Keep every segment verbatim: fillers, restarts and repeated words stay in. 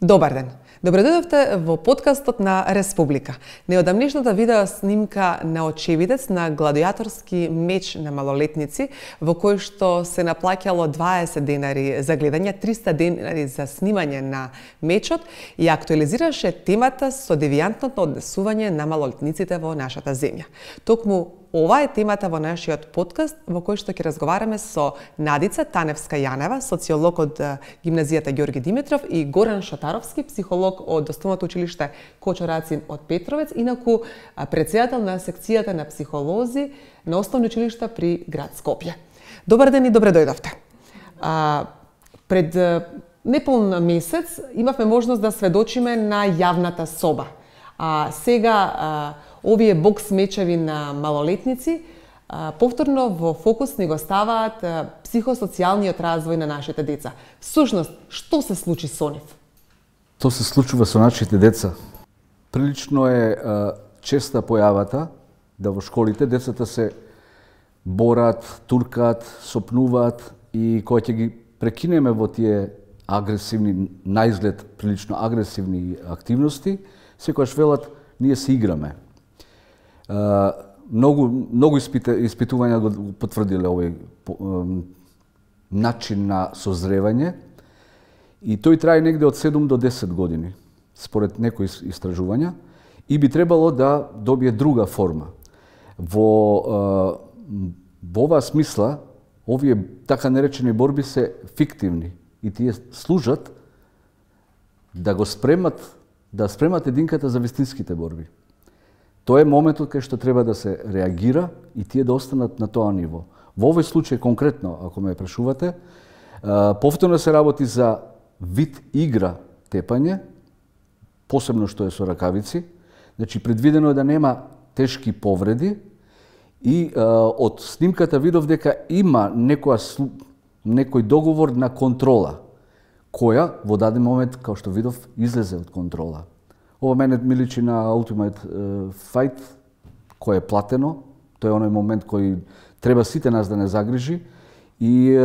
Добар ден! Добре дојдовте во подкастот на Республика. Неодамнешната видео снимка на очевидец на гладиаторски меч на малолетници, во кој што се наплаќало дваесет денари за гледање, триста денари за снимање на мечот и актуализираше темата со девијантното однесување на малолетниците во нашата земја. Токму ова е темата во нашиот подкаст, во кој што ќе разговараме со Надица Таневска-Јанева, социолог од гимназијата Ѓорги Димитров, и Горан Шотаровски, психолог од Основното училиште Кочо Рацин од Петровец, инаку претседател на секцијата на психолози на Основно училиште при град Скопје. Добар ден и добре дојдовте. А, пред неполн месец имавме можност да сведочиме на јавната соба. А сега а, овие бокс мечеви на малолетници а, повторно во фокус ни го ставаат а, психосоцијалниот развој на нашите деца. Всушност, што се случи со нив? Тоа се случува со нашите деца. Прилично е а, честа појавата да во школите децата се борат, туркаат, сопнуваат и кога ќе ги прекинеме во тие агресивни, наизглед прилично агресивни активности, секогаш велат ние се играме. Uh, многу многу испита, испитувања го потврдиле овој um, начин на созревање и тој трае негде од седум до десет години, според некои истражувања, и би требало да добие друга форма. Во uh, во оваа смисла, овие така наречени борби се фиктивни и тие служат да го спремат, да спремат единката за вистинските борби. Тоа е моментот кај што треба да се реагира и тие да останат на тоа ниво. Во овој случај конкретно, ако ме прашувате, повторно се работи за вид игра тепање, посебно што е со ракавици. Значи, предвидено е да нема тешки повреди и од снимката видов дека има некоја, некој договор на контрола, која во даден момент, као што видов, излезе од контрола. Ова мене ми личи на Ultimate Fight, кој е платено. Тој е оној момент кој треба сите нас да не загрижи и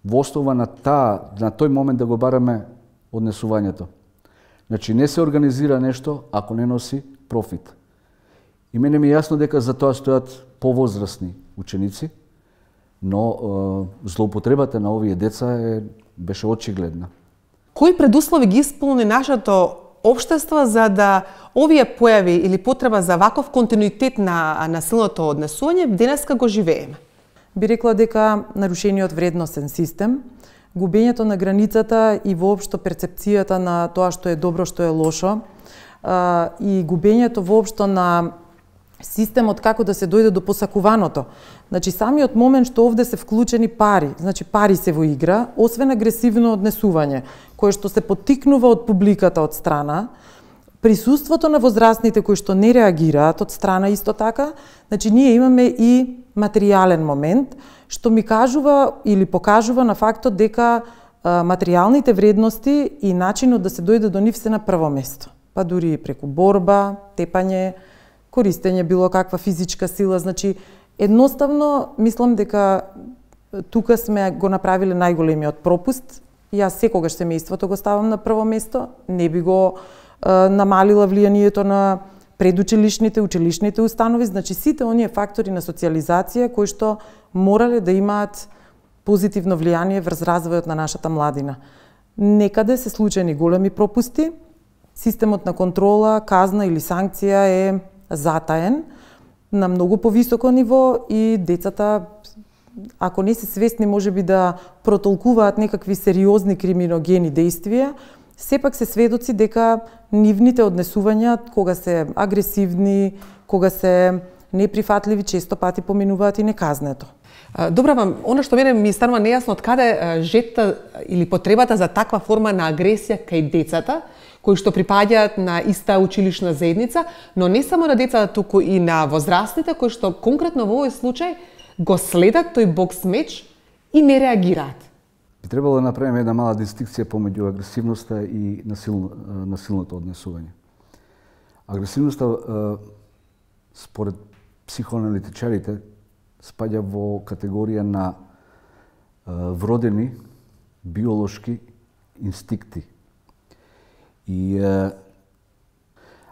во основа на таа, на тој момент да го бараме однесувањето. Значи не се организира нешто ако не носи профит. И мене ми е јасно дека за тоа стојат повозрасни ученици, но злоупотребата на овие деца е, беше очигледна. Кои предуслови ги исполни нашето општество за да овие појави или потреба за ваков континуитет на насилното однесување денеска го живееме? Би рекла дека нарушениот вредносен систем, губењето на границата и воопшто перцепцијата на тоа што е добро, што е лошо, и губењето воопшто на системот како да се дојде до посакуваното. Значи, самиот момент што овде се вклучени пари, значи пари се во игра, освен агресивно однесување, кое што се поттикнува од публиката од страна, присуството на возрастните кои што не реагираат од страна исто така, значи ние имаме и материјален момент, што ми кажува или покажува на фактот дека а, материјалните вредности и начинот да се дојде до нив се на прво место. Па дури и преку борба, тепање, користење било каква физичка сила, значи едноставно мислам дека тука сме го направиле најголемиот пропуст. Јас секогаш семејството го ставам на прво место, не би го е, намалила влијанието на предучилишните, училишните установи, значи сите оние фактори на социјализација кои што морале да имаат позитивно влијание врз развојот на нашата младина. Некаде се случени големи пропусти, системот на контрола, казна или санкција е затаен на многу повисоко ниво и децата, ако не се свесни можеби да протолкуваат некакви сериозни криминогени дејствија, сепак се сведоци дека нивните однесувања кога се агресивни, кога се неприфатливи, често пати поминуваат и неказнето. Добра вам, она што мене ми станува нејасно од каде жетта или потребата за таква форма на агресија кај децата, кои што припаѓаат на иста училишна заедница, но не само на децата, туку и на возрастните, кои што конкретно во овој случај го следат тој бокс меч и не реагираат. Би требало да направиме една мала дистинкција помеѓу агресивноста и насилно, насилното однесување. Агресивноста, според психоаналитичарите, спаѓа во категорија на вродени биолошки инстинкти. И е,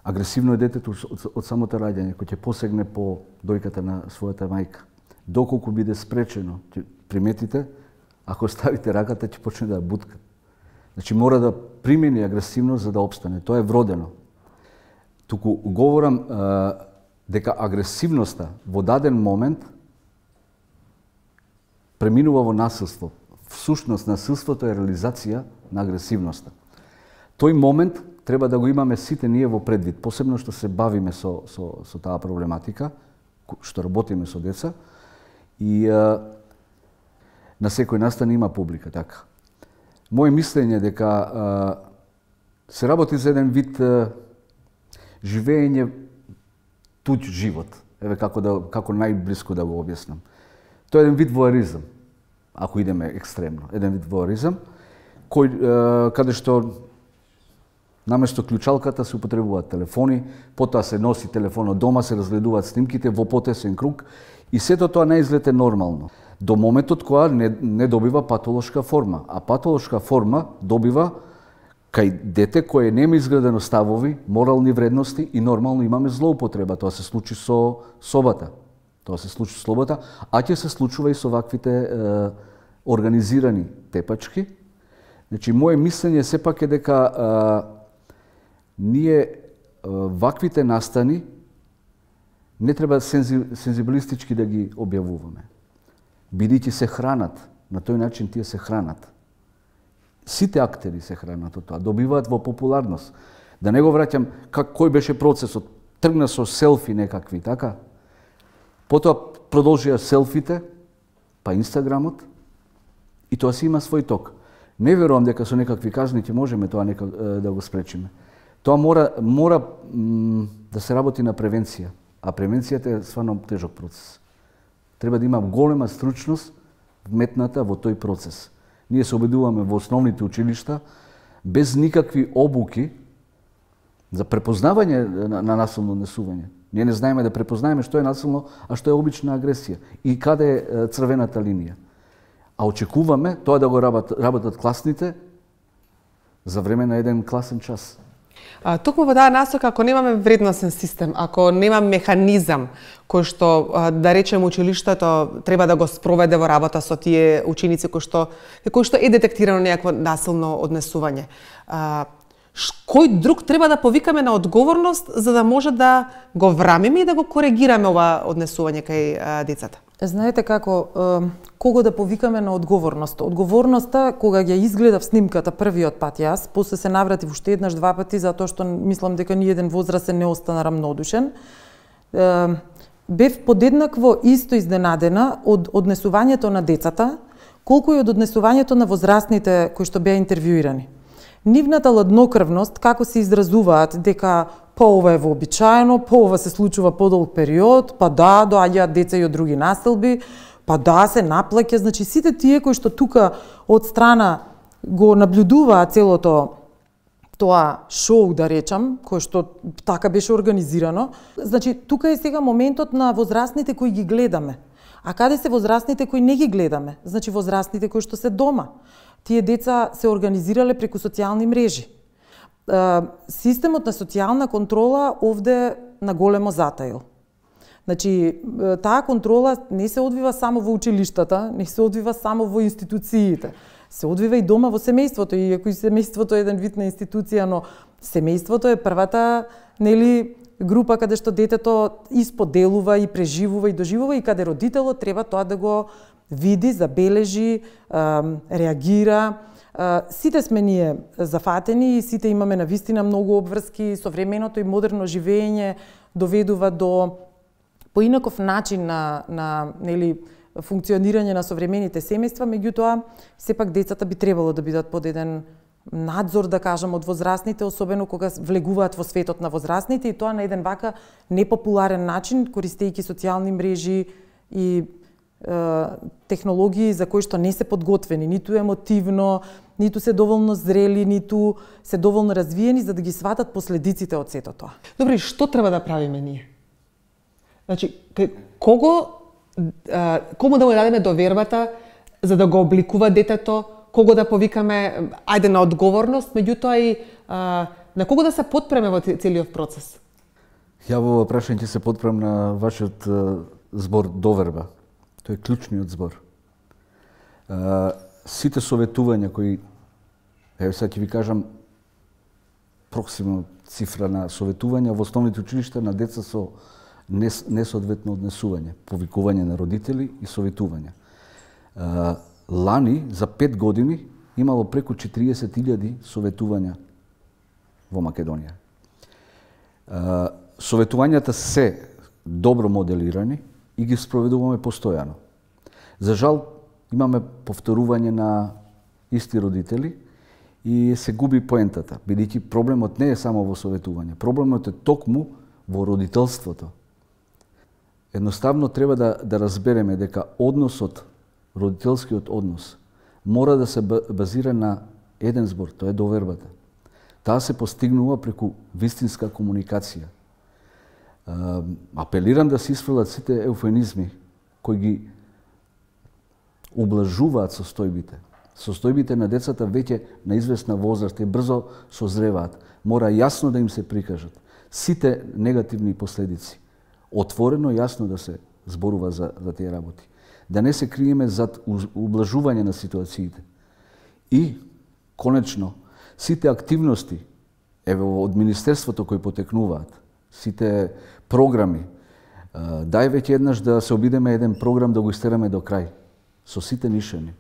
агресивно е детето од, од самото раѓање, кој ќе посегне по дојката на својата мајка. Доколку биде спречено, ќе приметите, ако ставите раката, ќе почне да ја бутка. Значи мора да примени агресивност за да обстане. Тоа е вродено. Туку говорам е, дека агресивноста во даден момент преминува во насилство. Всушност насилството е реализација на агресивноста. Тој момент треба да го имаме сите ние во предвид, посебно што се бавиме со, со, со таа проблематика, што работиме со деца, и а, на секој настан има публика, така. Моje мислење дека а, се работи за еден вид а, живење туѓ живот, еве како да како најблиско да го објаснам. Тоа е еден вид воеризам, ако идеме екстремно, еден вид воеризам, кој е, каде што наместо клучалката се употребуваат телефони, потоа се носи телефонот дома, се разгледуваат снимките во потесен круг и сето тоа не изгледа нормално. До моментот кога не, не добива патолошка форма, а патолошка форма добива кај дете кое нема изградено ставови, морални вредности и нормално имаме злоупотреба. Тоа се случи со собата. Тоа се случи со слобода, а ќе се случува и со ваквите е, организирани тепачки. Значи, моje мислење сепак е дека е, ние е, ваквите настани не треба сензи, сензибилистички да ги објавуваме. Бидејќи се хранат, на тој начин тие се хранат. Сите актери се хранат од тоа, добиваат во популарност. Да не го враќам как кој беше процесот, тргна со селфи некакви, така? Потоа продолжија селфите, па Инстаграмот, и тоа си има свој ток. Не верувам дека со некакви казни ќе можеме тоа некак, да го спречиме. Тоа мора, мора м, да се работи на превенција, а превенцијата е стварно тежок процес. Треба да има голема стручност вметната во тој процес. Ние се обидуваме во основните училишта без никакви обуки за препознавање на, на насилно однесување. Ние не знаеме да препознаеме што е насилно, а што е обична агресија и каде е црвената линија. А очекуваме тоа да го работат, работат класните за време на еден класен час. А, токму во таа насока, ако немаме вредносен систем, ако нема механизам кој што, да речем, училиштето треба да го спроведе во работа со тие ученици кои што, кои што е детектирано некакво насилно однесување, а, кој друг треба да повикаме на одговорност за да може да го врамиме и да го коригираме ова однесување кај а, децата? Знаете како, кого да повикаме на одговорност? Одговорноста, кога ја изгледав снимката првиот пат јас, после се навратив уште еднаш два пати, затоа што мислам дека ни еден возрастен не остана рамнодушен, бев подеднакво исто изненадена од однесувањето на децата, колку и од однесувањето на возрастните кои што беа интервјуирани. Нивната ладнокрвност, како се изразуваат дека па ова е вообичаено, па ова се случува подолг период, па да, доаѓаат деца и од други настилби, па да, се наплаќа, значи сите тие кои што тука од страна го наблюдуваат целото тоа шоу, да речам, кој што така беше организирано, значи тука е сега моментот на возрастните кои ги гледаме. А каде се возрастните кои не ги гледаме? Значи возрастните кои што се дома. Тие деца се организирале преку социјални мрежи. Системот на социјална контрола овде на големо затаил. Значи, таа контрола не се одвива само во училиштата, не се одвива само во институциите. Се одвива и дома во семејството, иако и семејството е еден вид на институција, но семејството е првата, нели, група каде што детето исподелува и преживува и доживува и каде родителот треба тоа да го види, забележи, реагира. Сите сме ние зафатени и сите имаме навистина многу обврски, современото и модерно живење доведува до поинаков начин на, на нели, функционирање на современите семејства, меѓутоа сепак децата би требало да бидат под еден надзор, да кажам, од возрастните, особено кога влегуваат во светот на возрастните и тоа на еден вака непопуларен начин, користејќи социјални мрежи и технологии за кои што не се подготвени, ниту емотивно, ниту се доволно зрели, ниту се доволно развиени за да ги сватат последиците од сето тоа. Добре, што треба да правиме ние? Значи, кого, кому да му дадеме довербата за да го обликува детето, кого да повикаме, ајде на одговорност, меѓутоа и а, на кого да се подпреме во целиот процес? Ја во прашање ќе се подпрем на вашиот збор доверба. Тој е клучниот збор. Сите советувања кои, еве сега ќе ви кажам проксимно цифра на советувања во основните училишта на деца со несоодветно однесување, повикување на родители и советувања. Лани за пет години имало преку четириесет илјади советувања во Македонија. Советувањата се добро моделирани и ги спроведуваме постојано. За жал, имаме повторување на исти родители и се губи поентата, бидејќи проблемот не е само во советување, проблемот е токму во родителството. Едноставно треба да, да разбереме дека односот, родителскиот однос, мора да се базира на еден збор, тоа е довербата. Таа се постигнува преку вистинска комуникација. Апелирам да се исфрлат сите еуфемизми кои ги ублажуваат состојбите. Состојбите на децата веќе на известна возраст и брзо созреваат. Мора јасно да им се прикажат сите негативни последици. Отворено јасно да се зборува за, за тие работи. Да не се криеме зад ублажување на ситуациите. И, конечно, сите активности, еве од Министерството кои потекнуваат, сите програми, дај веќе еднаш да се обидеме еден програм да го истераме до крај, со сите нишани.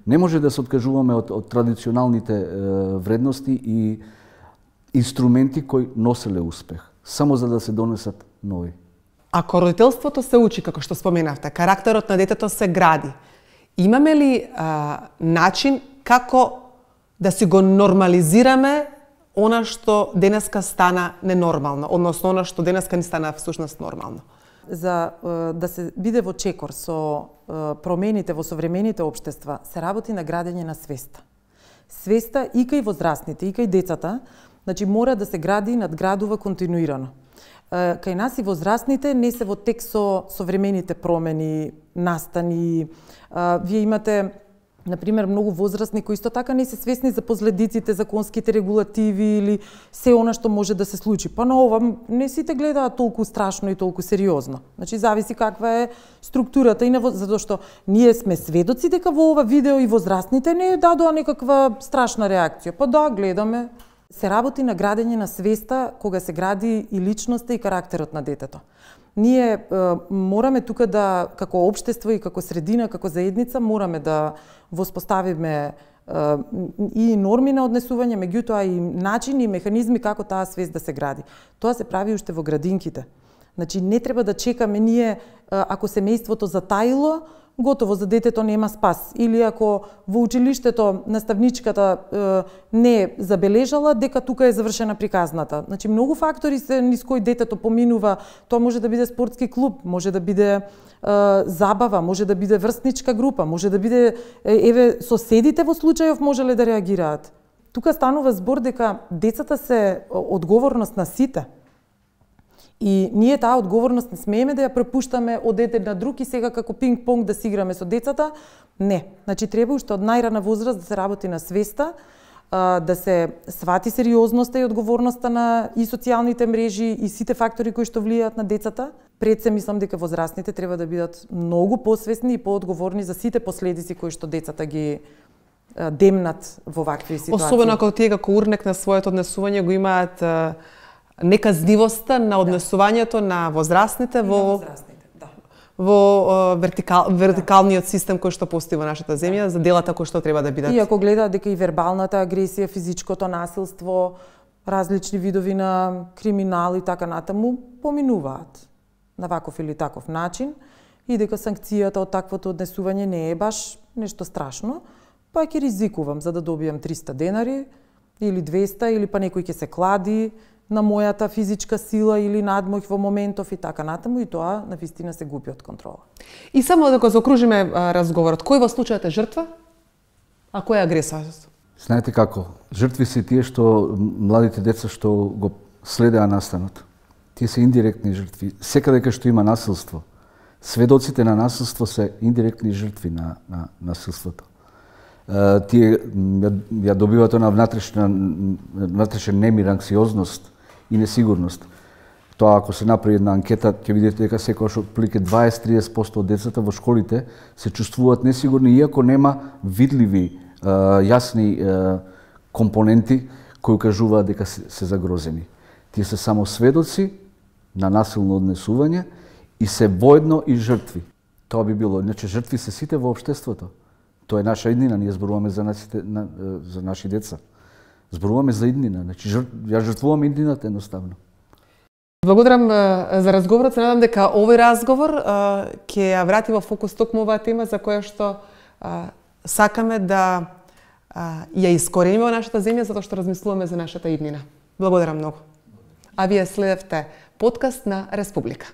Не може да се откажуваме од, од традиционалните е, вредности и инструменти кои носеле успех, само за да се донесат нови. Ако родителството се учи, како што споменавте, карактерот на детето се гради, имаме ли а, начин како да си го нормализираме она што денеска стана ненормално, односно она што денеска ни стана всушност нормално? За да се биде во чекор со промените во современите општества, се работи на градење на свеста. Свеста и кај возрастните, и кај децата, значи мора да се гради и надградува континуирано. Кај нас и возрастните не се во тек со современите промени, настани. Вие имате, например, многу возрастни кои исто така не се свесни за последиците, законските регулативи или се она што може да се случи. Па на ова не сите гледаат толку страшно и толку сериозно. Значи зависи каква е структурата и на затоа што ние сме сведоци дека во ова видео и возрастните не дадоа некаква страшна реакција. Па да, гледаме. Се работи на градење на свеста кога се гради и личноста и карактерот на детето. Ние е, мораме тука да, како општество и како средина, како заедница, мораме да воспоставиме е, и норми на однесување, меѓутоа и начини и механизми како таа свест да се гради. Тоа се прави уште во градинките. Значи не треба да чекаме ние, ако семејството затаило, готово за детето нема спас. Или ако во училиштето наставничката е, не забележала дека тука е завршена приказната. Значи многу фактори се низ кои детето поминува. Тоа може да биде спортски клуб, може да биде е, забава, може да биде врстничка група, може да биде еве соседите во случајов можеле да реагираат. Тука станува збор дека децата се одговорност на сите. И ние таа одговорност не смееме да ја препуштаме од еден на друг и сега како пинг-понг да си играме со децата. Не. Значи треба уште од најрана возраст да се работи на свеста, да се свати сериозноста и одговорноста на и социјалните мрежи и сите фактори кои што влијаат на децата. Пред се мислам дека возрастните треба да бидат многу посвесни и поодговорни за сите последици кои што децата ги демнат во вакви ситуации. Особено ако тие како урнек на своето однесување го имаат неказнивоста на однесувањето на возрастните во на возрастните, да. во вертикал, вертикалниот систем кој што постои во нашата земја за делата кои што треба да бидат. И ако гледаат дека и вербалната агресија, физичкото насилство, различни видови на криминал и така натаму поминуваат на ваков или таков начин и дека санкцијата од таквото однесување не е баш нешто страшно, па ќе ризикувам за да добијам триста денари или двеста или па некој ќе се клади на мојата физичка сила или надмоќ во моментов и така натаму и тоа на вистина се губи од контрола. И само да го заокружиме разговорот, кој во случајот е жртва, а кој е агресорот? Знаете како, жртви се тие што младите деца што го следеа настанот. Тие се индиректни жртви. Секаде кај што има насилство, сведоците на насилство се индиректни жртви на, на насилството. тие ја, ја добиваат на внатрешна внатрешен немир, анксиозност и несигурност. Тоа ако се направи една анкета, ќе видите дека секогаш отприлike дваесет до триесет проценти од децата во школите се чувствуваат несигурни, иако нема видливи, јасни компоненти кои кажуваат дека се, се загрозени. Тие се само сведоци на насилно однесување и се воедно и жртви. Тоа би било, иначе жртви се сите во општеството. Тоа е наша иднина, ние зборуваме за нашите на, за наши деца. Зборуваме за иднина, значи жр... ја жртвуваме иднината едноставно. Благодарам за разговорот. Се надам дека овој разговор ќе ја врати во фокус токму оваа тема за која што а, сакаме да а, ја искорениме во нашата земја, затоа што размислуваме за нашата иднина. Благодарам многу. А вие следевте подкаст на Республика.